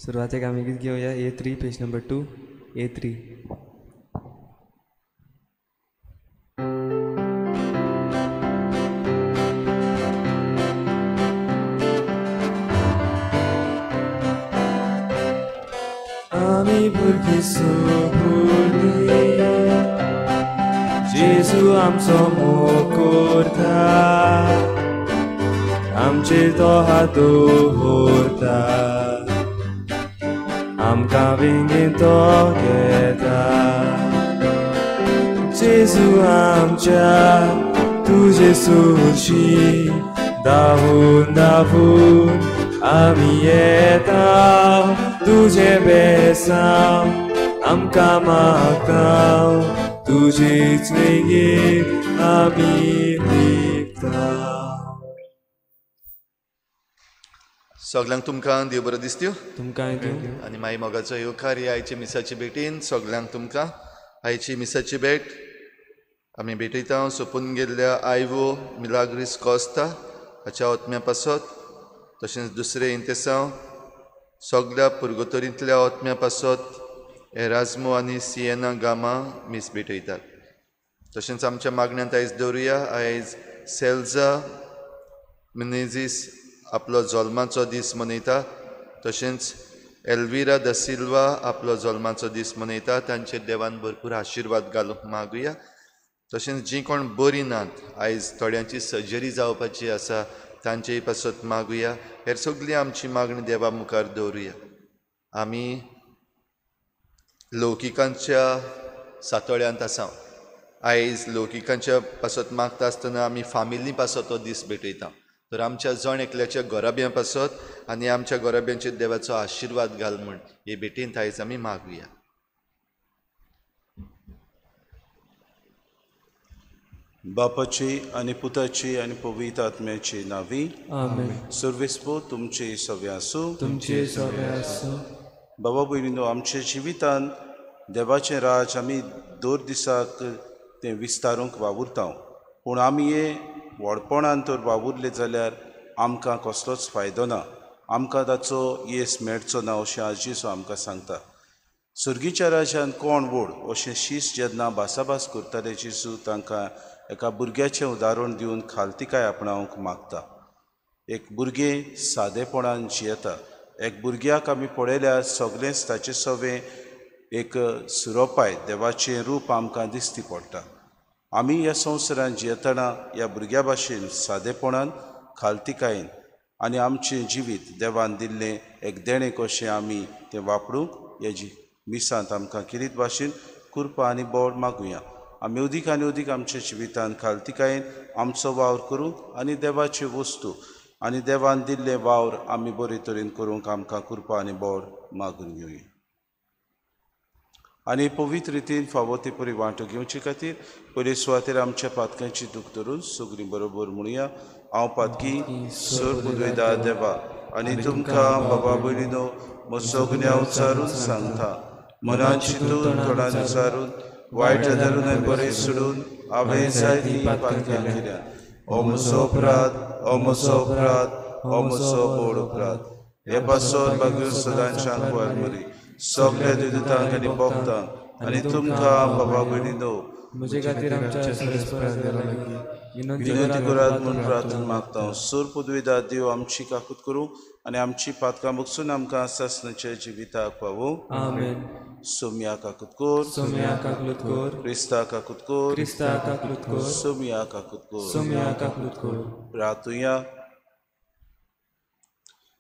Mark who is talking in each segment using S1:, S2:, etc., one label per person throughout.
S1: सुरवातेक आमी गीत घेवया A3 page number 2 A3. आमी भुरगीं सोबुली जेजू आमचो मोग करता आमचेर तो हात दवरता आमकां वेंगेंत तो घेता. जेजू आमच्या तुजे सुशी धांवून धांवून आमी येता तुजें बेसांव आमकां मागता तुजेच वेंगेंत आमी लिपता.
S2: सगल्यांक तुमकां देव बरो दिसत्यो
S1: तुमकां
S2: आनी माई मोगाचो येवकार ह्या आयच्या मिसाचे भेटीन सगल्यांक तुमकां आयची मिसाची भेट आमी भेटयता सोंपून गेल्ल्या आयवो मिलाग्रीस कोस्ता हाच्या ओतम्या पासत तशेंच दुसरें इंतेसांव सगल्या पुर्गोतरींतल्या ओतम्या पासत एराजमो आनी सिएना गामा मीस भेटयतात. तशेंच आमच्या मागण्यांत आयज दवरुया आयज सेल्जा मिनेझीस आपलो जल्माचो दीस मनयता तशेंच एल्विरा the Silva आपलो जल्माचो दीस मनयता. तांचेर देवान भरपूर आशिर्वाद घालूंक मागुया. तशेंच जीं कोण बरीं नात आयज थोड्यांची सर्जरी जावपाची आसा तांचेय पासत मागुया. हेर सगळी आमची मागणी देवा मुखार दवरुया. आमी लौकिकांच्या सातोळ्यांत आसा. आयज लौकिकांच्या पासत मागता आसतना आमी फामिली पासत तो दीस भेटयता. तर आमच्या जण एकल्याच्या गोराब्यां पासत आनी आमच्या गोराब्यांचेर देवाचो आशिर्वाद घाल म्हूण हे भेटींत आयज आमी मागुया.
S3: बापाची आनी पुताची आनी पवित्र आत्म्याची नावी
S1: आमेन.
S3: सर्वेस्पो तुमचे सवे आसूं.
S1: तुमचे सवे आसूं.
S3: बाबा भयणीनो, आमच्या जिवितांत देवाचें राज आमी दर दिसाक तें विस्तारूंक वावुरता, पूण आमी हे व्हडपणान तर वावुरले जाल्यार आमकां कसलोच फायदो ना, आमकां ताचो येस मेळचो ना अशें आज जेजू आमकां सांगता. सर्गीच्या राजान कोण व्हड अशें शीस जेन्ना भासाभास करताले जेजू तांकां एका भुरग्याचें उदाहरण दिवन खालतिकाय आपणावंक मागता. एक भुरगें सादेपणान जियेता. एक भुरग्याक आमी पळयल्यार सगळेंच ताचें सवें एक सुरोपाय देवाचें रूप आमकां दिसती पडटा. आमी ह्या संवसारांत जियेतना ह्या भुरग्या भाशेन सादेपणान खालतिकायेन आनी आमचें जिवीत देवान दिल्लें एक देणें कशें आमी तें वापरूंक ह्या मिसांत आमकां किरीत भाशेन कृपा आनी बळ मागुया. आमी अदीक आनी अदीक आमच्या जिवितांत खालतिकायेन आमचो वावर करूंक आनी देवाच्यो वस्तू आनी देवान दिल्लें वावर आमी बरे तरेन करूंक आमकां कृपा आनी बळ मागून घेवया. आनी पवित्र रितीन फावो ते परी वांटो घेवचे खातीर पयले सुवातेर आमच्या पातकांची दूख धरून सगळीं बरोबर म्हणुया. हांव पातकी सर पुदवेदा देवा आनी तुमकां बाबा भयणीनो म्हजो गुन्यांव उच्चारून सांगता. मनान चिंतून तोंडान उच्चारून वायट धरून आनी बरें सोडून हांवें जायतीं पातकां केल्या. हो म्हजो अपराध, हो म्हजो अपराध, हो म्हजो व्हड अपराध. हे पासत बागीर सदांच्या मरी सगळ्या दुदितांक आनी भक्तांक आनी तुमकां बाबा भयणीनो
S1: म्हजे खातीर आमच्या
S3: विनंती करात म्हूण प्रार्थना मागता. सूर पदवीदार देव आमची काकूत करूं आनी आमची पातकां बगसून आमकां सासणाच्या जिविताक पावूं.
S1: आमेन.
S3: सोम्या काकूत कर,
S1: सोम्या काकूत कर,
S3: क्रिस्ता काकूत कर,
S1: क्रिस्ता काकूत कर,
S3: सोम्या काकूत कर,
S1: सोम्या काकूत कर.
S3: प्रार्थुया.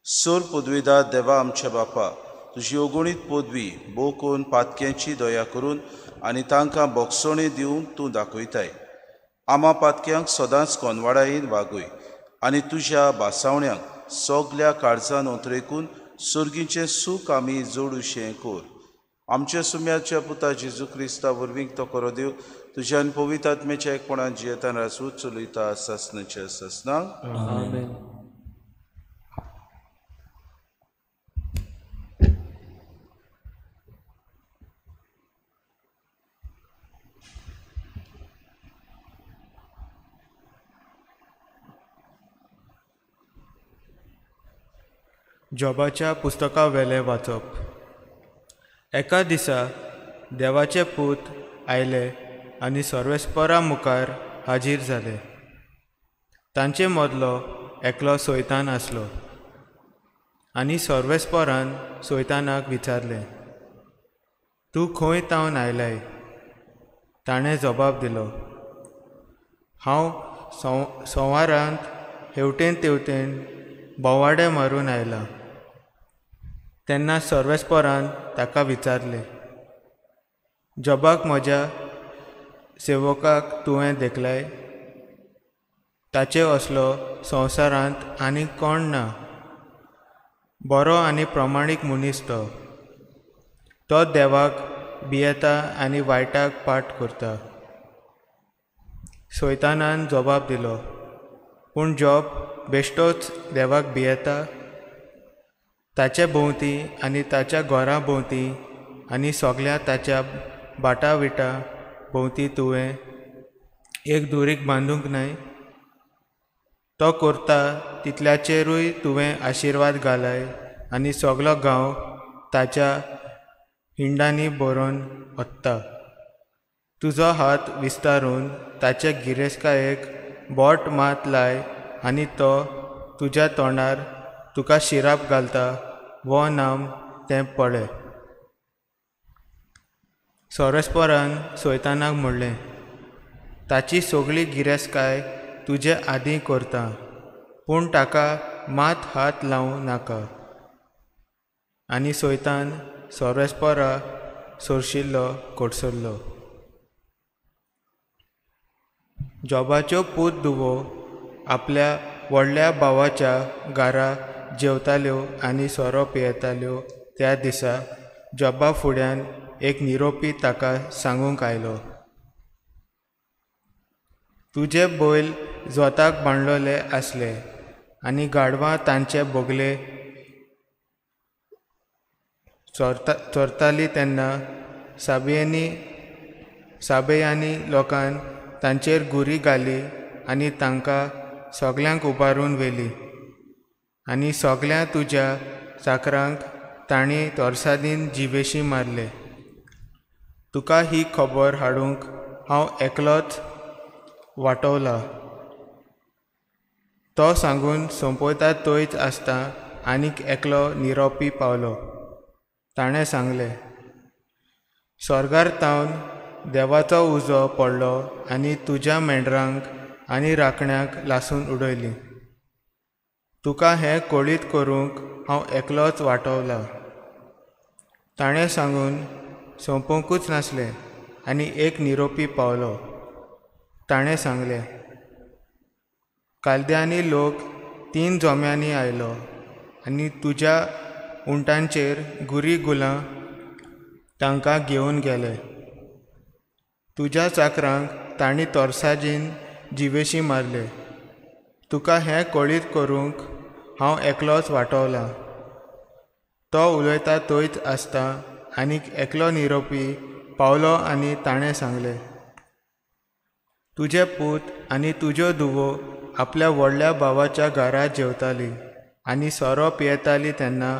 S3: सूर पदवीदार देवा आमच्या बापा, तुजी अगणीत पदवी बोकून पातक्यांची दया करून आनी तांकां बोगसोणी दिवन तूं दाखयताय. आमा पातक्यांक सदांच कोनवाडायेन वागय आनी तुज्या भासावण्यांक सगल्या काळजान ओतरेकून सर्गीचें सूख आमी जोडुशें कर. आमच्या सुम्याच्या पुता जेजू क्रिस्ता वरवीं तो करो देव तुज्यान पवित्र आत्म्याच्या एकपणान जियेतान राजू चलयता सासणाच्या सासणाक.
S1: आमेन. जॉबाच्या पुस्तका वेलें वाचप. एका दिसा देवाचे पूत आयले आनी सर्वेस्परा मुखार हाजीर जाले. तांचे मदलो एकलो सैतान आसलो आनी सर्वेस्परान सैतानाक विचारलें, तूं खंय तावन आयलाय? ताणें जबाब दिलो, हांव संवारांत हेवटेन तेवटेन भोंवाडे मारून आयलां. तेन्ना सर्वेस्परान ताका विचारलें, जॉबाक म्हज्या सेवकाक तुवें देखलाय? ताचे असलो संवसारांत आनीक कोण ना. बरो आनी प्रमाणीक मनीस तो. तो देवाक भियेता आनी वायटाक पाठ करता. सैतानान जबाब दिलो, पूण जॉब बेश्टोच देवाक भियेता? ताचे भोंवती आनी ताच्या घरा भोंवती आनी सगल्या ताच्या बाटा विटा भोंवती तुवें एक दुरीग बांदूंक न्हय? तो करता तितल्याचेरूय तुवें आशिर्वाद घालाय आनी सगलो गांव ताच्या हिंडांनी भरून वता. तुजो हात विस्तारून ताचे गिरेस्तकायेक बोट मात लाय आनी तो तुज्या तोंडार तुका शिराप घालता वो नाम तें पळय. सर्वेस्परान सैतानाक म्हणलें, ताची सगळी गिरेस्तकाय तुजे आदीं करता, पूण ताका मात हात लावं नाका. आनी सैतान सर्वेस्परा सोरशिल्लो कडसरलो. जॉबाच्यो पूत धुवो आपल्या व्हडल्या भावाच्या घरा जेवताल्यो आनी सोरो पियेताल्यो. त्या दिसा जॉबा फुड्यान एक निरोपी ताका सांगूंक आयलो, तुजे बैल जोताक बांदलेले आसले आनी गाडवां तांचे बगले चोरताली. तेन्ना साबेयानी लोकान तांचेर गुरी घाली आनी तांकां सगल्यांक उबारून व्हेली आनी सगल्या तुज्या चाकरांक तांणी तरसादीन जिवेशी मारले. तुका ही खबर हाडूंक हांव एकलोच वाटवला. तो सांगून सोंपयता थंयच आसता आनीक एकलो निरोपी पावलो. ताणें सांगलें, स्वर्गार तावन देवाचो उजो पडलो आनी तुज्या मेंढरांक आनी राखण्यांक लासून उडयलीं. तुका हें कळीत करूंक हांव एकलोच वाटवला. ताणें सांगून सोंपोवंकूच नासलें आनी एक निरोपी पावलो. ताणें सांगलें, कालद्यांनी लोक 3 जोम्यांनी आयलो आनी तुज्या उंटांचेर गुरी गुलां तांकां घेवन गेले. तुज्या चाकरांक तांणी तरसादीन जिवेशी मारले. तुका हें कळीत करूंक हांव एकलोच वाटवला. तो उलयता थंयच आसता आनीक एकलो निरोपी पावलो आनी ताणें सांगलें, तुजे पूत आनी तुज्यो धुवो आपल्या व्हडल्या भावाच्या घरा जेवताली आनी सोरो पियेताली तेन्ना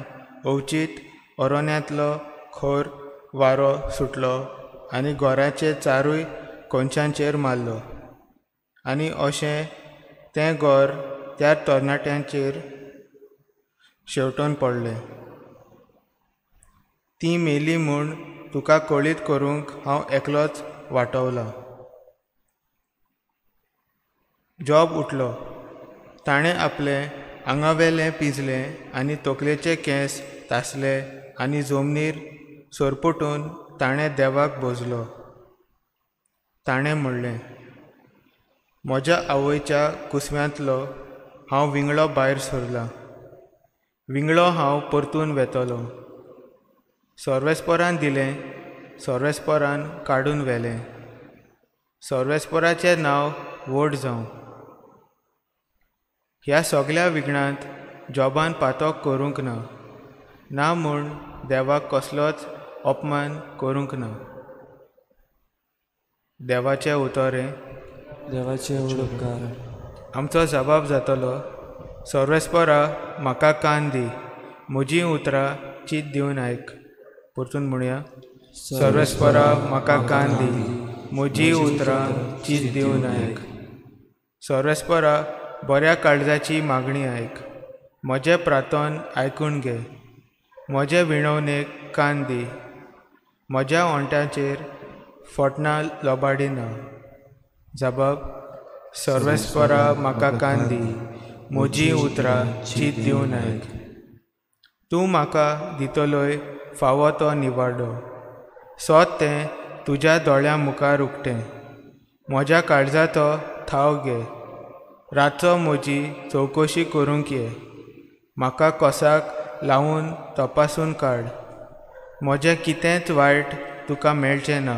S1: अवचीत अरण्यांतलो खर वारो सुटलो आनी घराचे चारूय कोनशांचेर मारलो आनी अशें तें घर त्या तरणाट्यांचेर शेंवटून पडलें. ती मेली म्हूण तुका कळीत करूंक हांव एकलोच वाटवला. जॉब उठलो. ताणें आपलें आंगावेलें पिंजलें आनी तकलेचे केंस तासले आनी जमनीर सरपटून ताणें देवाक भजलो. ताणें म्हणलें, म्हज्या आवयच्या कुसव्यांतलो हांव विंगळो भायर सरला, विंगळो हांव परतून वेतलो. सर्वेस्परान दिलें, सर्वेस्परान काडून व्हेलें. सर्वेस्पराचें नांव व्हड जावं. ह्या सगल्या विघ्नांत जॉबान पातक करूंक ना, ना म्हूण देवाक कसलोच अपमान करूंक ना. देवाचें उतर हें.
S4: देवाचे उपकार.
S1: आमचो जबाब जातलो, सर्वेस्परा म्हाका कान दी, म्हजीं उतरां चीत दिवन आयक. परतून म्हणया. सर्वेस्परा म्हाका कान दी, म्हजीं उतरां चीत दिवन आयक. सर्वेस्परा बऱ्या काळजाची मागणी आयक, म्हजें प्रार्थन आयकून घे, म्हजे विणवणेक कान दी. म्हज्या ओंठाचेर फटणां लोबाडिना. जबाब. सर्वेस्परा म्हाका कान दी, म्हजीं उतरां चीत दिवन आयक. तूं म्हाका दितलोय फावो तो निवाडो, सोद तें तुज्या दोळ्यां मुखार उक्तें. म्हज्या काळजाचो थाव घे, रातचो म्हजी चवकशी करूंक ये. म्हाका कोसाक लावन तपासून काड, म्हजें कितेंच वायट तुका मेळचें ना.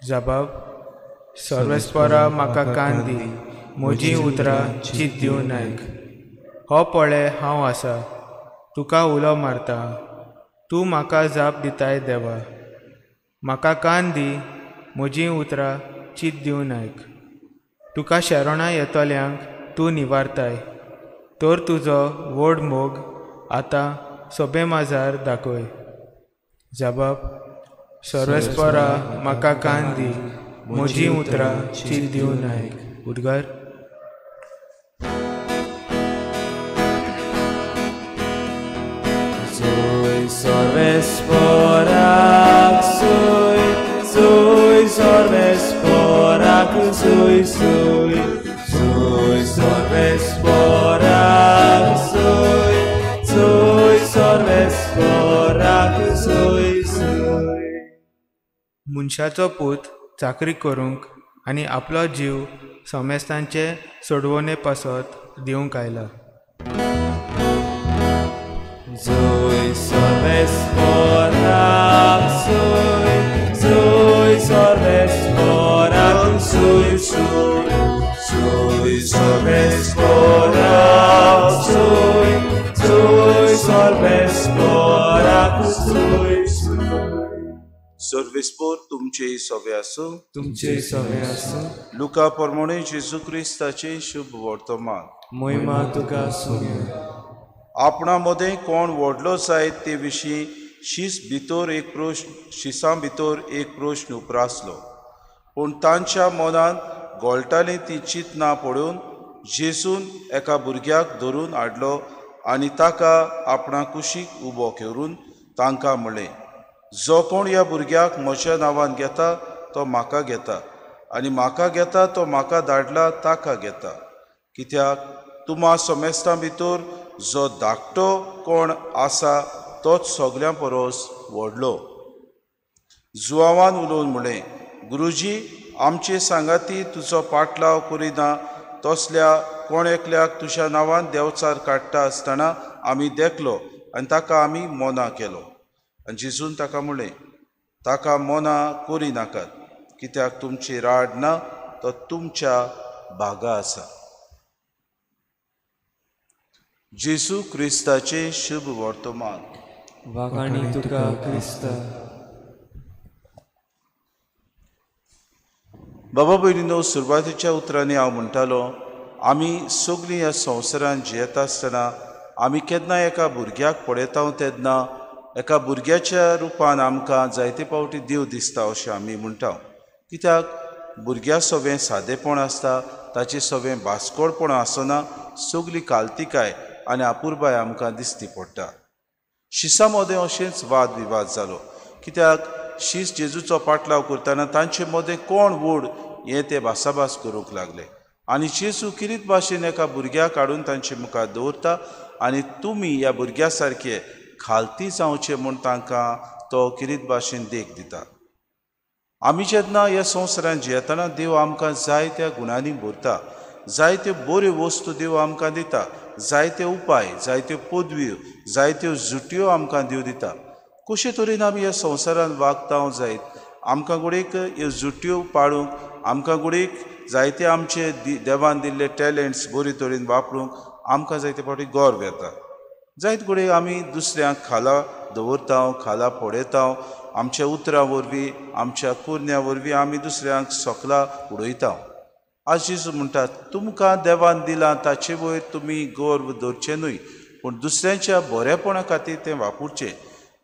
S1: जबाब. सर्वेस्परा म्हाका कान दी, म्हजीं उतरां चीत दिवन आयक. हो पळय हांव आसा, तुका उलो मारता, तूं म्हाका जाप दिताय देवा. म्हाका कान दी, म्हजीं उतरां चीत दिवन आयक. तुका शरणां येतल्यांक तूं निवारताय, तर तुजो व्हड मोग आतां सोबे माजार दाखय. जबाब. सर्वेस्परा म्हाका कान दी, म्हजीं उतरां चीत दिवन आयक. उद्गार.
S4: सर्वेस्पराक सोय, सोय सर्वेस्पराक सोय, सोय सोय सर्वेस्पराक सोय, सोय सर्वेस्पराक सोय सोय.
S1: मनशाचो पूत चाकरी करूंक आनी आपलो जीव समेस्तांचे सोडवणे पासत दिवंक आयला.
S4: जोय सर्वेस्पराक सोय, जोय सर्वेस्पराक सोय, सोय सोय सर्वेस्पराक सोय, जोय सर्वेस्पराक सोय सोय.
S3: सर्वेस्पोर तुमचे सवे आसूं.
S4: तुमचे सवे आसूं.
S3: लुका प्रमाणे जेजू क्रिस्ताचें शुभ वर्तमान.
S4: महिमा तुका आसूं.
S3: आपणा मदें कोण व्हडलो जायत ते विशीं शीस भितर एक प्रश्न शिसां भितर एक प्रश्न उप्रासलो. पूण तांच्या मनांत गोळटालीं ती चिंतनां पळोवन जेजून एका भुरग्याक धरून हाडलो आनी ताका आपणा कुशीक उबो करून तांकां म्हणलें, जो कोण ह्या भुरग्याक म्हज्या नांवान घेता तो म्हाका घेता, आनी म्हाका घेता तो म्हाका धाडला ताका घेता. कित्याक तुमा समेस्तां भितर जो धाकटो कोण आसा तोच सगल्यां परस व्हडलो. जुआवान उलोवन म्हणलें, गुरुजी, आमचे सांगाती तुजो पाटलाव करिना तसल्या कोण एकल्याक तुज्या नांवान देंवचार काडटा आसतना आमी देखलो आनी ताका आमी मोना केलो. आनी जेजून ताका म्हणलें, ताका मोना करिनाकात, कित्याक तुमची राड ना तो तुमच्या भागा आसा. जेजू क्रिस्ताचें शुभ वर्तमान.
S4: वाखाणी तुका क्रिस्ता.
S3: बाबा भयणीनो, सुरवातेच्या उतरांनी हांव म्हणटालो, आमी सगळीं ह्या संवसारांत जियेता आसतना आमी केन्ना एका भुरग्याक पळयता तेन्ना एका भुरग्याच्या रुपान आमकां जायते फावटी देव दिसता अशें आमी म्हणटा. कित्याक भुरग्या सवें सादेपण आसता, ताचे सवें बास्कोडपण आसना, सगळी कालतिकाय आनी अपुरबाय आमकां दिसती पडटा. शिसां मदें अशेंच वाद विवाद जालो, कित्याक शीस जेजूचो पाटलाव करतना तांचे मदें कोण व्हड हें ते भासाभास करूंक लागले. आनी जेजू किरीत भाशेन एका भुरग्याक हाडून तांचे मुखार दवरता आनी तुमी ह्या भुरग्या सारके खालती जावचें म्हूण तांकां तो किरीत भाशेन देख दिता. आमी जेन्ना ह्या संवसारांत जियेतना देव आमकां जायत्या गुणांनी भरता, जायत्यो बऱ्यो वस्तू देव आमकां दिता, जायते उपाय, जायत्यो पदव्यो, जायत्यो जुटयो आमकां देव दिता. कशे तरेन आमी ह्या संवसारांत वागता जायत आमकां घडयेक ह्यो जुटयो पाळूंक, आमकां घडयेक जायते आमचे देवान दिल्ले टॅलंट्स बरे तरेन वापरूंक आमकां जायते फावटी गर्व येता. जायत घडये आमी दुसऱ्यांक खाला दवरता, खाला पळयता, आमच्या उतरां वरवीं, आमच्या कुरण्या वरवीं आमी दुसऱ्यांक सकला उडयता. आज जेजू म्हणटा, तुमकां देवान दिलां ताचे वयर तुमी गर्व दवरचें न्हय, पूण दुसऱ्यांच्या बरेपणा खातीर तें वापरचें.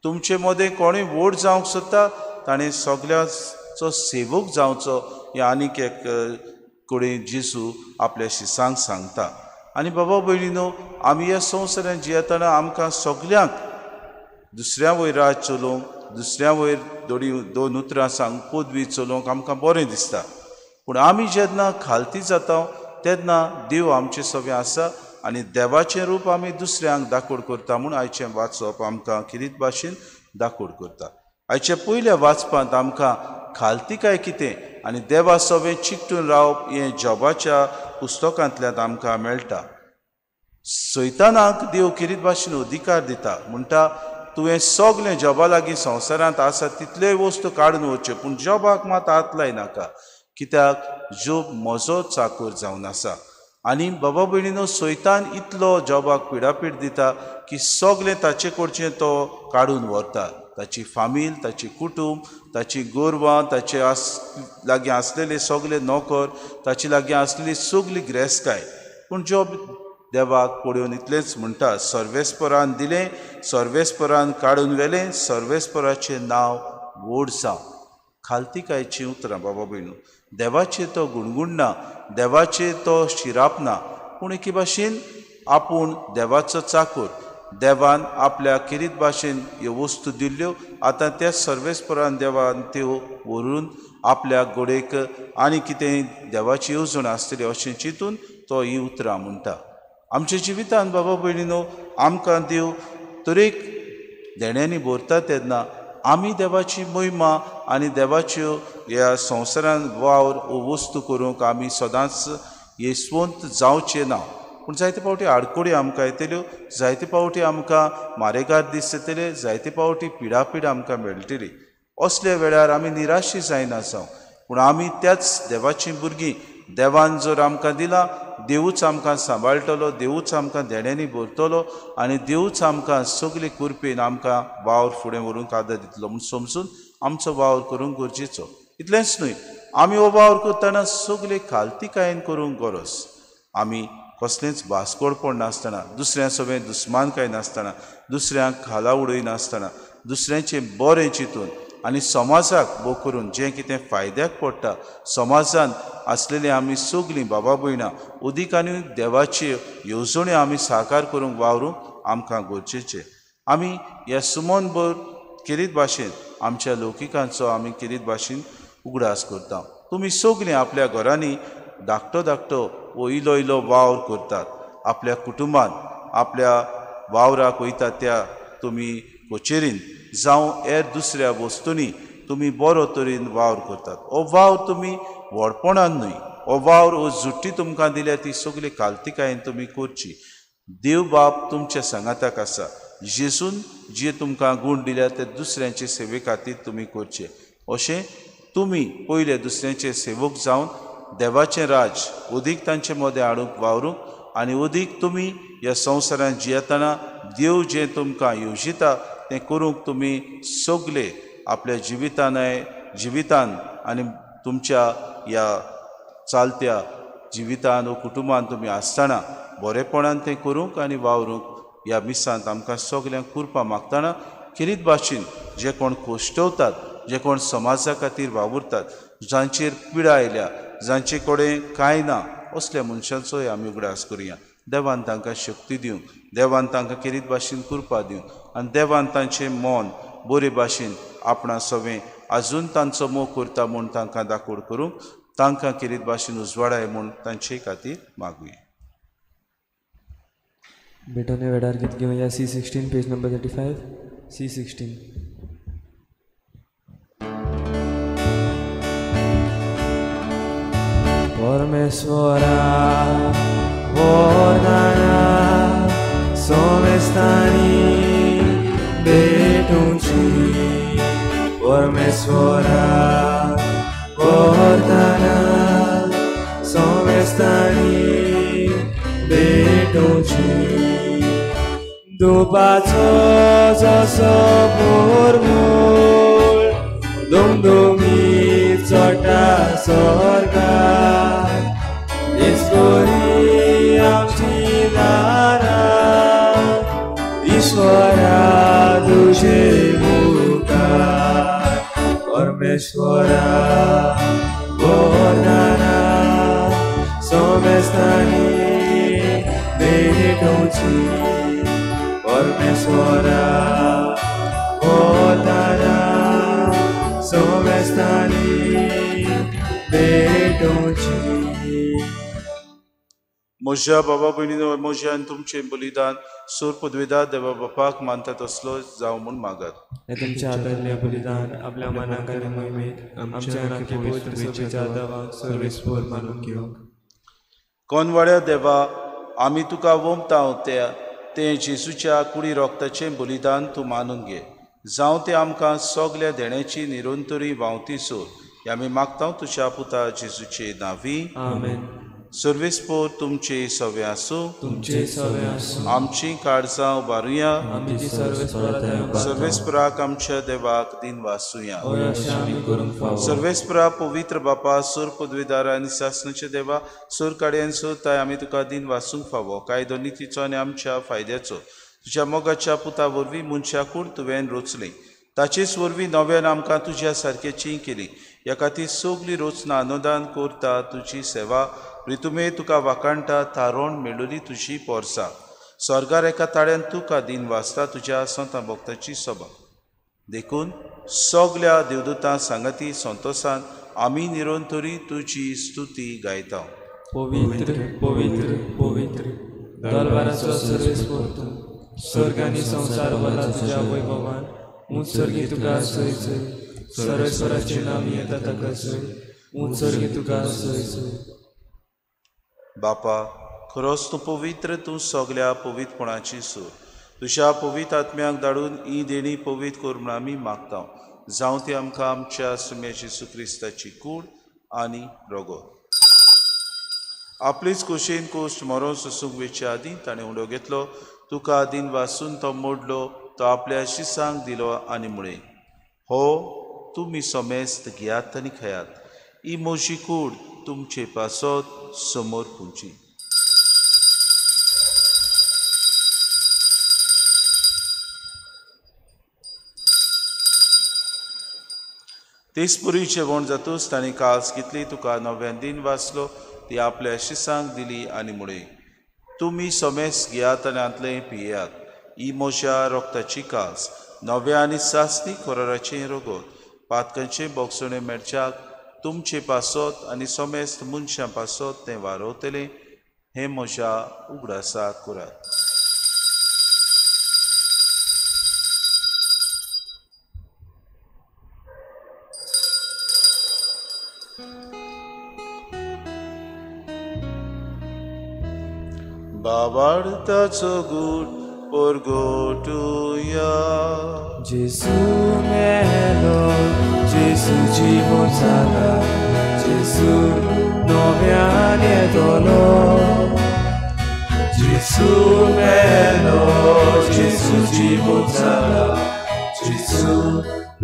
S3: तुमचे मदें कोणूय व्हड जावंक सोदता ताणें सगळ्यांचो सेवक जावचो हें आनीक एक कडेन जेजू आपल्या शिसांक सांगता. आनी बाबा भयणीनो, आमी ह्या संवसारांत जियेतना आमकां सगल्यांक दुसऱ्या वयर राज चलोवंक, दुसऱ्या वयर दोन उतरां सांग पदवी चलोवंक आमकां बरें दिसता. पूण आमी जेन्ना खालती जाता तेन्ना देव आमचे सगळें आसा आनी देवाचें रूप आमी दुसऱ्यांक दाखोड करता म्हूण आयचें वाचप आमकां खेरीत भाशेन दाखोड करता. आयच्या पयल्या वाचपांत आमकां खालतिकाय कितें आनी देवा सवें चिकटून रावप हें जॉबाच्या पुस्तकांतल्यान आमकां मेळटा. सैतानाक देव खेरीत भाशेन अधिकार दिता, म्हणटा तुवें सगळें जॉबा लागीं संवसारांत आसा तितल्योय वस्तू काडून वच्च्यो, पूण जॉबाक मात हात लायनाका, कित्याक जोब म्हजो चाकर जावन आसा. आनी बाबा भयणीनो, सैतान इतलो जॉबाक पिडापीड दिता की सगळें ताचे कडचें तो काडून व्हरता. ताची फामील, ताची कुटूंब, ताची गोरवां, ताचे लागीं आसलेले सगळे नोकर, ताचे लागीं आसलेली सगळी ग्रेसकाय. पूण जॉब देवाक पळोवन इतलेंच म्हणटा, सर्वेस्परान दिलें, सर्वेस्परान काडून व्हेलें, सर्वेस्पराचें नांव व्हड जावं. खालतिकायचीं उतरां बाबा भयणू, देवाचें तो गुणगुणना, देवाचें तो शिरापना, पूण एके भाशेन आपूण देवाचो चाकूर, देवान आपल्या खेरीत भाशेन ह्यो वस्तू दिल्ल्यो, आतां त्या सर्वेस्परान देवान त्यो व्हरून आपल्या गोडेक आनी कितें देवाची येवजण आसतली अशें चिंतून तो ही उतरां म्हणटा. आमच्या जिवितान बाबा भयणीनो, आमकां देव तरेक देण्यांनी भरता तेन्ना आमी देवाची महिमा आनी देवाच्यो ह्या संवसारान वावर वो वस्तू करूंक आमी सदांच येसवंत जावचें ना. पूण जायते फावटी आडकोडी आमकां येतल्यो, जायते फावटी आमकां मारेगार दीस येतले, जायते फावटी पिडापीड आमकां मेळटली. असल्या वेळार आमी निराशी जायना जावं, पूण आमी त्याच देवाचीं भुरगीं. देवान जर आमकां दिलां, देवूच आमकां सांबाळटलो, देवूच आमकां देण्यांनी भरतलो आनी देवूच आमकां सगळे कृपेन आमकां वावर फुडें व्हरूंक आदार दितलो म्हूण समजून आमचो वावर करूंक गरजेचो. इतलेंच न्हय, आमी हो वावर करतना सगळे खालतिकायेन करूंक गरज. आमी कसलेंच भास्कोडपण नासतना, दुसऱ्यां सवें दुस्मानकाय नासतना, दुसऱ्यांक खाला उडयनासतना, दुसऱ्यांचें बरें चिंतून आनी समाजाक भोव करून जें कितें फायद्याक पडटा समाजान आसलेलीं आमी सगळीं बाबा भयणां उदीक आनी देवाच्यो येवजण्यो आमी साकार करूंक वावरूंक आमकां गरजेचें. आमी ह्या सुमन भर खेरीत भाशेन आमच्या लौकिकांचो आमी खेरीत भाशेन उगडास करता. तुमी सगळीं आपल्या घरांनी धाकटो धाकटो वो इलो इलो वावर करतात, आपल्या कुटुंबान आपल्या वावराक वयता त्या तुमी कचेरीन जावं हेर दुसऱ्या वस्तूंनी तुमी बरो तरेन वावर करतात. हो वावर तुमी व्हडपणान न्हय, हो वावर हो जुट्टी तुमकां दिल्या ती सगळी खालतिकायेन तुमी करची. देव बाप तुमच्या सांगाताक आसा. जेजून जे तुमकां गूण दिल्या ते दुसऱ्यांचे सेवे खातीर तुमी करचे. अशें तुमी पयले दुसऱ्यांचे सेवक जावन देवाचें राज अदीक तांचे मदें हाडूंक वावरूंक आनी अदीक तुमी ह्या संवसारांत जियेतना देव जें तुमकां येवजिता तें करूंक तुमी सगळे आपल्या जिवितान आनी तुमच्या ह्या चालत्या जिवितान वो कुटुंबान तुमी आसतना बरेपणान तें करूंक आनी वावरूंक ह्या मिसांत आमकां सगल्यांक कृपा मागतना खेरीत भाशेन जे कोण कोश्टवतात, जे कोण समाजा खातीर वावुरतात, जांचेर पिडा आयल्या, जांचे कडेन कांय ना, असल्या मनशांचोय आमी उगडास करुया. देवान तांकां शक्ती दिवंक, देवान तांकां खेरीत भाशेन कृपा दिवंक आनी देवान तांचें मन बरे भाशेन आपणा सवें आजून तांचो मोग करता म्हूण तांकां दाखोड करूंक तांकां खेरीत भाशेन उजवाडाय म्हूण तांचे खातीर मागुया.
S4: भेटोने वेळार गीत घेवया C16 page number 35 C16. परमेश्वरा वरदाना सोमेस्तानी भेटूंची, परमेश्वरा वरदाना सोमेस्तानी भेटूंची. दुपाचो जसो भोरमूळ दुमदुमी चडटा स्वर्गार, ईश्वरी आमची दारां परमेश्वरा वरदाना सोमेस्तानी भेटोवची परमेश्वरा वरदाना सोमेस्तानी भेटोवची.
S3: म्हज्या बाबा भयणीनो म्हजें आनी तुमचें बलिदान सूर पदवेदार देवा बापाक मानता तसलो जावं म्हूण मागात.
S4: हें तुमच्या हातांतलें बलिदान आपल्या मनाक आनी मोहिमेक आमच्या आनी पवित्र सभेच्या देवाक सर्वेस्पर मानून घेवंक.
S3: कोनवाड्या देवा आमी तुका वोमता त्या तें जेजूच्या कुडी रोगताचें बलिदान तूं मानून घे. जावं तें आमकां सगल्या देण्याची निरंतरी व्हांवती सोर हें आमी मागता तुज्या पुता जेजूचे नांवी.
S4: आमेन.
S3: सर्वेस्पर तुमचे सवे आसूं.
S4: तुमचे सवे आसूं.
S3: आमची काळजां उबारुया. सर्वेस्पराक आमच्या देवाक दिन वासुया. सर्वेस्परा पवित्र बापा सूर पदवीदार आनी सासणाचे देवा सूर काडयेन सोदताय आमी तुका दिन वासूंक फावो कायदो नितीचो आनी आमच्या फायद्याचो. तुज्या मोगाच्या पुता वरवीं मनशा कूड तुवें रोचली ताचेच वरवीं नव्यान आमकां तुज्या सारकेची केली. ह्या खातीर सगली रोचना अनुदान करता तुजी सेवा रितुमे तुका वाखाणटा थारोवन मेळोली तुजी पोरसा. स्वर्गार एका ताळ्यान तुका दिन वाचता तुज्या संतां भक्ताची सभा. देखून सगल्या देवदूतां सांगाती संतोसान आमी निरंतरी तुजी स्तुती गायता.
S4: पवित्र पवित्र पवित्र दरबाराचो सर्वेस्पर तूं स्वर्ग आनी संवसार भरला तुज्या वैभवान. ऊंच स्वर्गी तुका सय सय सर्वेस्पराचें नांव येता ताका सय ऊंच स्वर्गी तुका सय सय.
S3: बापा खरोच तूं पवित्र तूं सगल्या पवित्रपणाची सूर. तुज्या पवित्र आत्म्याक धाडून ही देणी पवित्र कर म्हूण आमी मागता. जावं ती आमकां आमच्या सुम्या जेजू क्रिस्ताची कूड आनी रगत. आपलीच कुशीन कोश्ट मरोन सोसूंक वेचे आदीं ताणें उडो घेतलो तुका दिन वासून तो मोडलो तो आपल्या शिसांक दिलो आनी म्हळें हो तुमी समेस्त घेयात आनी खेयात ही म्हजी कूड तुमचे पासत समोर पुंची. तेच पुरी जेवण जातूच ताणें कास घेतली तुका नव्यान दिन वाचलो ती आपल्या शिसांक दिली आनी म्हळें तुमी समेस्त घेयात आनी हांतलें पियेयात ही म्हज्या रोगताची कास नव्या आनी सासणी कोराराचें रगत पातकांचें बोगसणें मेळच्याक तुमचे पासत आनी समेस्त मनशां पासत तें वारवतलें हें म्हज्या उगडासाक करात. बाबाडताचो गूट परगटुया.
S4: जेजू मेलो जेजू जिवो जाला जेजू नव्यान येतलो. जेजू मेलो जेजू जिवो जाला जेजू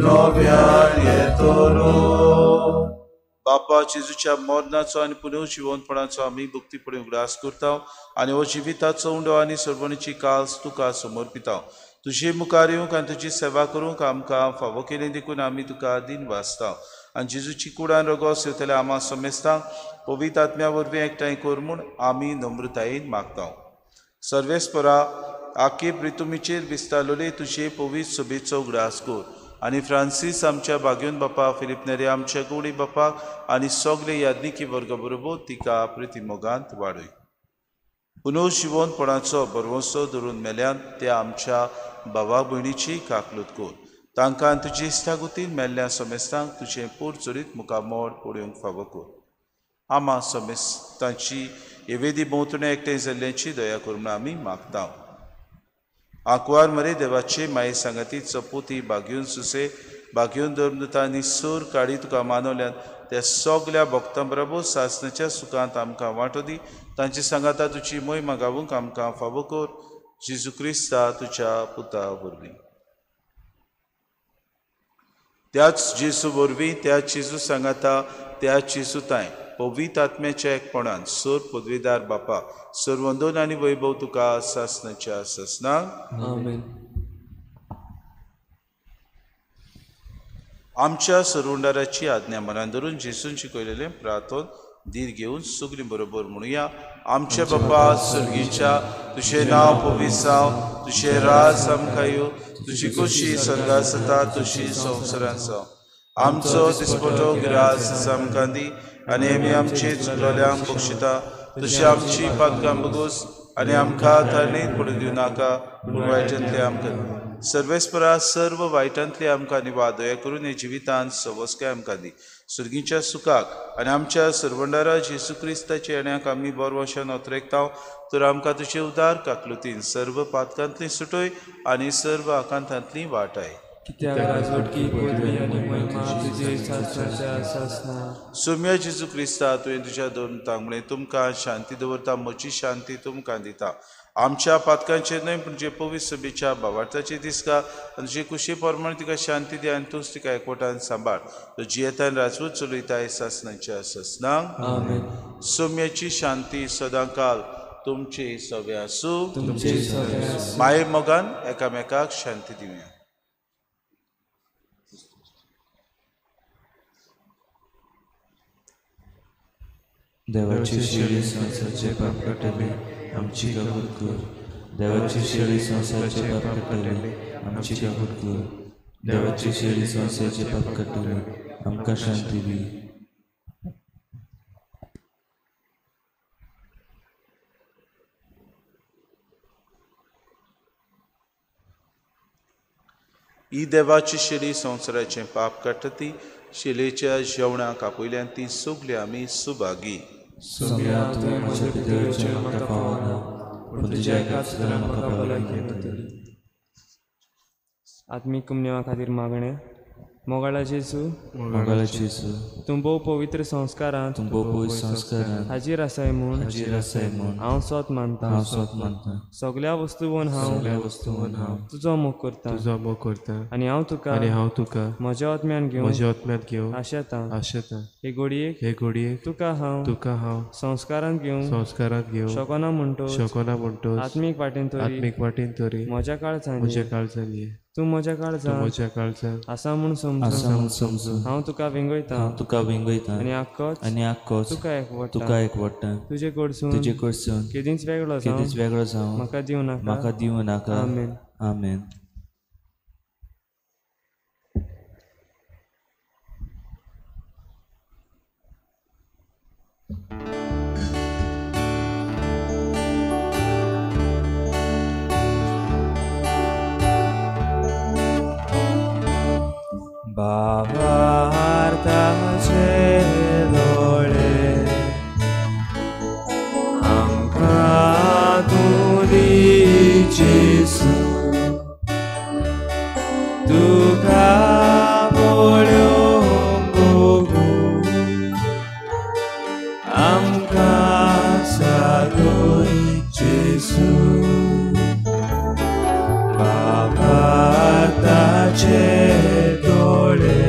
S4: नव्यान येतलो.
S3: बापा जेजूच्या मरणाचो आनी पुनर्जिवनपणाचो आमी भक्तीपणी उगडास करता आनी हो जिविताचो उंडो आनी सर्वणीची कास तुका समर्पिता. तुजे मुखार येवंक आनी तुजी सेवा करूंक आमकां फावो केली देखून आमी तुका दिन वाचता. आनी जेजूची कुडान रगो सेवतल्या आमा समेस्तांक पवित्र आत्म्या वरवीं एकठांय कर म्हूण आमी नम्रतायेन मागता. सर्वेस्परा आखे प्रितुमीचेर विस्तारलेले तुजे पवित्र सभेचो उगडास कर आनी फ्रांसीस आमच्या बागयोन बापा फिलीप नेरी आमच्या गौडी बापाक आनी सगले याज्ञिकी वर्गा बरोबर तिका प्रितीमोगांत वाडय. पुनर्जिवनपणाचो भरवंसो धरून मेल्यान त्या आमच्या भावा भयणीची काकलूत कर. तांकां तुजी इश्टागतीन मेल्ल्या समेस्तांक तुजें पोर चरीत मुखामळ पळोवंक फावो कर. आमा समेस्तांची एवेदी भोंवतणी एकठांय जाल्ल्याची दया कर म्हूण आमी मागता. आंकवार मरे देवाचे माये सांगाती चपोती बागयोन सुसे बागयोन धर्मदूता आनी सूर काडी तुका मानवल्यान त्या सगल्या भक्तां बरोबर सासणाच्या सुखांत आमकां वांटो दी. तांचे सांगाता तुजी मोहिमा गावूंक आमकां फावो कर. जेजू क्रिस्ता तुज्या पुता वरवीं. त्याच जेजू वरवीं त्याच जेजू सांगाता त्याच जेजू तांय पवित्र आत्म्याच्या एकपणान सोर पदवीदार बापा सोर वंदन आनी वैभव तुका सासणाच्या सासणाक.
S4: आमेन.
S3: आमच्या सरवंडाराची आज्ञा मनान धरून जेजून शिकयलेलें प्रार्थन धीर घेवन सगळीं बरोबर म्हणुया. आमचे बापा स्वर्गीच्या, तुजें नांव पवित्र जावं, तुजें राज आमकां येवं, तुजी खोशी स्वर्गांत जाता तशी संवसारांत जावं. आमचो दिसपटो ग्रास आमकां दी आनी आमी आमचे चुकलोल्यांक बक्षिता तशी आमची पातकां बगोस आनी आमकां तारणीत पडूं दिवं नाका, पूण वायटांतले आमकां सर्वेस्परा सर्व वायटांतले आमकां निवा दया करून हे जिवितांत सवस्काय आमकां दी. सुर्गीच्या सुखाक आनी आमच्या सरवंडारा जेजू क्रिस्ताच्या येण्याक आमी बरवशान ओतरेकता, तर आमकां तुजे उदार काकलुतीन सर्व पातकांतली सुटय आनी सर्व आकांतांतली वाटाय. सोम्या जेजू क्रिस्ता, तुवें तुज्या दोन तांगणे तुमकां शांती दवरता, म्हजी शांती तुमकां दिता. आमच्या पातकांचेर न्हय पूण जे पवित्र सभेच्या भावार्थाचे दिसका आनी तुजे कुशी प्रमाण तिका शांती दी आनी तूंच तिका एकवटान सांबाळ. तो जियेतान राजवट चलयताय सासनाच्या सासनाक. सोम्याची शांती सदांकाल तुमचे सगळे आसूं. माये मोगान एकामेकाक शांती दिवया.
S4: देवाची शेळी संवसाराचे पाप काडटली आमची काकूट कर. देवाची शेळी संवसाराचे पाप काडटली आमची काकूट कर. देवाची शेळी संवसाराचे पाप काडटली आमकां शांती दी.
S3: ही देवाची शेळी संवसाराचें पाप काडटा ती शेळेच्या जेवणाक आपयल्यान ती सगळीं आमी सुभागी.
S4: सोम्या, तुवें म्हज्या भितर येवचें म्हाका फावना, पूण तुज्या एकाच उतरान म्हाका भलायकी मेळटली.
S5: आत्मीक कुमनेवा खातीर मागणें. मोगाळा जेजू,
S4: मोगाळा जेजू,
S5: तूं भोव पवित्र संस्कारांत,
S4: तूं भोव पवित्र संस्कारांत
S5: हाजीर आसाय म्हूण,
S4: हाजीर आसाय म्हूण
S5: हांव सोत मानता,
S4: हांव सोत मानता.
S5: सगळ्या वस्तूवन हांव,
S4: सगळ्या वस्तूवन हांव
S5: तुजो मोग करता,
S1: तुजो मोग करता
S5: आनी हांव तुका,
S1: आनी हांव तुका
S5: म्हज्या आत्म्यान घेवन,
S1: म्हज्या आत्म्यान घेवन
S5: आशेता,
S1: आशेता.
S5: हे घडयेक,
S1: हे घडयेक
S5: तुका हांव,
S1: तुका हांव
S5: संस्कारांत घेवन,
S1: संस्कारांत घेवन
S5: शकना म्हणटो,
S1: शकना म्हणटो
S5: आत्मीक वाटेन तरी,
S1: आत्मीक वाटेन तरी
S5: म्हज्या काळजान,
S1: म्हज्या काळजान ये,
S5: तूं म्हज्या काळजान,
S1: म्हज्या काळजान
S5: आसा म्हूण
S4: समजून, समजून
S5: हांव तुका वेंगयता,
S4: हांव तुका वेंगयता
S5: आनी आक्कोच,
S4: आनी आक्कोच
S5: तुका एकवटा,
S4: तुका एकवटा.
S5: तुजे कडसून,
S4: तुजे कडसून
S5: केदींच वेगळो जावं,
S4: केदींच वेगळो जावं
S5: म्हाका दिवं नाका,
S4: म्हाका दिवं नाका.
S5: आमेन.
S4: आमेन.
S1: बाबार्थाचे दोळे आमकां तूं दी जेजू, तुका पळोवंक आमकां सादय जेजू. बाबार्थाचे दोळे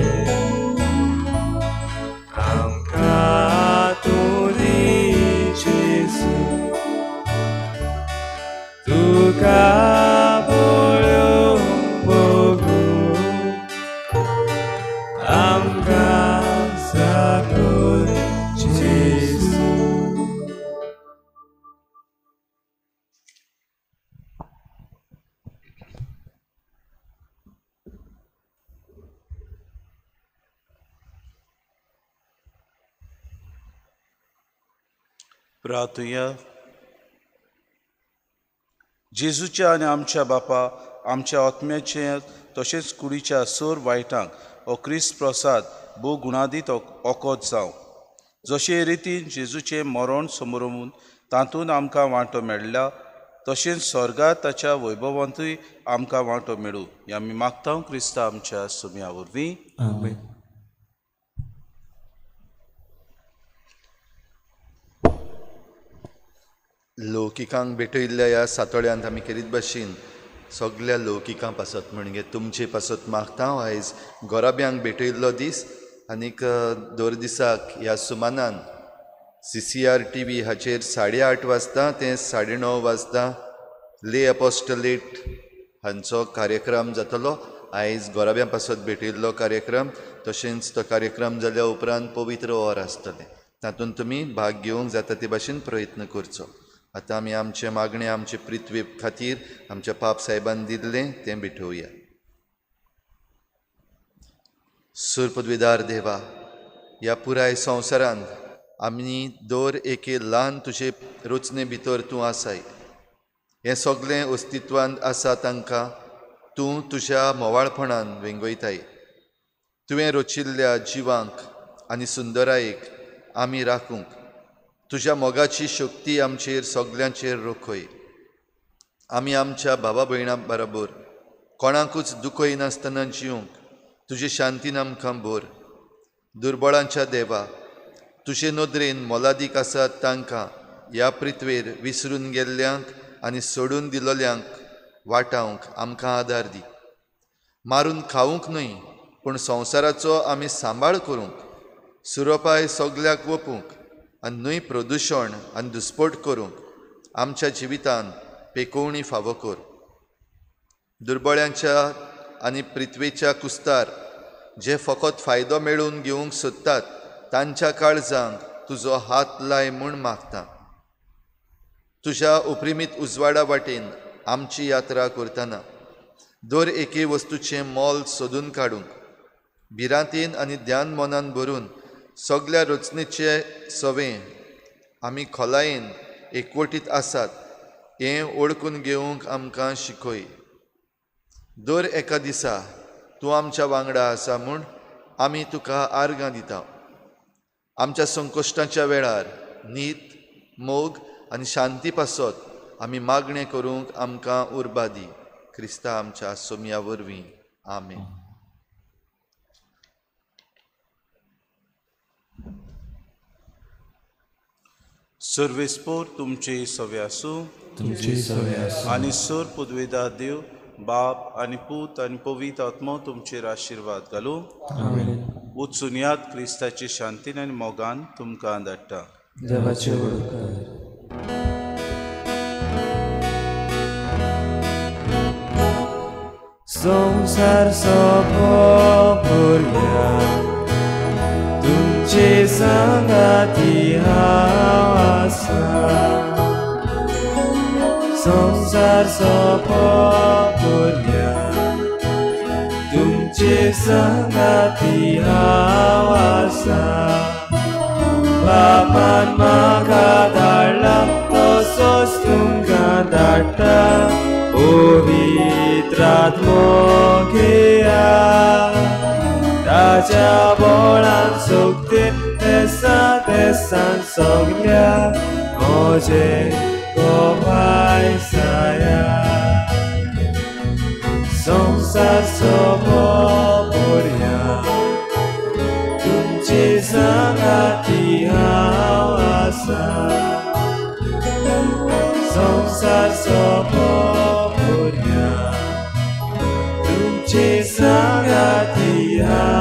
S1: आमकां तूं दी जेजू, तुका पळोवंक आमकां सादय जेजू.
S3: प्रार्थुया. जेजूच्या आनी आमच्या बापा, आमच्या आत्म्याचे तशेंच कुडीच्या सोर वायटांक हो क्रिस्त प्रसाद भोव गुणादीत ओकोत जावं. जशे रितीन जेजूचें मरण समरोवन तातूंत आमकां वांटो मेळ्ळा, तशेंच स्वर्गांत ताच्या वैभवांतूय आमकां वांटो मेळूं हें आमी मागता क्रिस्ता आमच्या सुम्या वरवीं.
S4: आमेन.
S2: लौकिकांक भेटयल्ल्या ह्या सातोळ्यांत आमी केरीत भाशेन सगल्या लौकिकां पासत म्हणजे तुमचे पासत मागता. आयज गोराब्यांक भेटयल्लो दीस आनीक दर दिसाक ह्या सुमानान CCR TV हाचेर 8:30 वाजता ते 9:30 वाजता ले अपोस्टलेट हांचो कार्यक्रम जातलो. आयज गोराब्यां पासत भेटयल्लो कार्यक्रम तशेंच तो कार्यक्रम जाल्या उपरांत पवित्र ओर आसतलें, तातूंत तुमी भाग घेवंक जाता ते भाशेन प्रयत्न करचो। आतां आमी आमचें मागणें आमचे पृथ्वी खातीर आमच्या पाप साहेबान दिल्लें तें भेटोवया। सुरपदवीदार देवा, ह्या पुराय संवसारांत आमी दर एके ल्हान तुजे रचने भितर तूं आसाय। हें सगळें अस्तित्वांत आसा तांकां तूं तुज्या मोवाळपणान वेंगयताय। तुवें रचिल्ल्या जिवांक आनी सुंदरायेक आमी राखूंक तुज्या मोगाची शक्ती आमचेर सगल्यांचेर रोखय। आमी आमच्या भावा भयणां बरोबर कोणाकूच दुखयनासतना जिवंक तुजे शांतीन आमकां भर। दुर्बळांच्या देवा, तुजे नदरेन मोलादीक आसात तांकां ह्या पृथ्वेर विसरून गेल्ल्यांक आनी सोडून दिल्ल्यांक वाटावंक आमकां आदार दी। मारून खावंक न्हय पूण संवसाराचो आमी सांबाळ करूंक, सुरोपाय सगल्याक वपूंक आनी न्हय प्रदुशण आनी दुस्पोट करूंक आमच्या जिवितान पेकोवणी फावो कर। दुर्बळ्यांच्या आनी पृथ्वेच्या कुस्तार जे फकत फायदो मेळोवन घेवंक सोदतात तांच्या काळजांक तुजो हात लाय म्हूण मागता। तुज्या उपरिमीत उजवाडा वाटेन आमची यात्रा करतना दर एके वस्तूचें मोल सोदून काडूंक भिरांतेन आनी ध्यान मनान भरून सगल्या रचनेचे सवें आमी खोलायेन एकवटीत आसात हें वळखून घेवंक आमकां शिकय। दर एका दिसा तूं आमच्या वांगडा आसा म्हूण आमी तुका आर्गां दिता। आमच्या संकश्टाच्या वेळार नीत, मोग आनी शांती पासत आमी मागणें करूंक आमकां उर्बा दी। क्रिस्ता आमच्या सोमया वरवीं, आमेन।
S3: सर्वेस्पोर तुमचे सवे आसूं,
S4: तुमचे सवे आसूं।
S3: आनी सर पुदवेदार देव बाप आनी पूत आनी पवित्र आत्मो तुमचेर आशिर्वाद घालूं।
S4: आमेन।
S3: वचून यात क्रिस्ताची शांतीन आनी मोगान तुमकां धाडटा।
S4: देवाचे उपकार। संसार सोंपोवया तुमचे सांगाती हांव आसा। संसार सोंपोवया तुमचे सांगाती हांव आसा। बापान म्हाका धाडला तसोच तुमकां धाडटा पवित्र आत्मो घेया। ताच्या बळान सोगते देसा देसान सगल्या म्हजे गोवाय साया। संसार सोंपोवया तुमचे सांगाती हांव आसा। संसार सोंपोवया तुमचे सांगाती हांव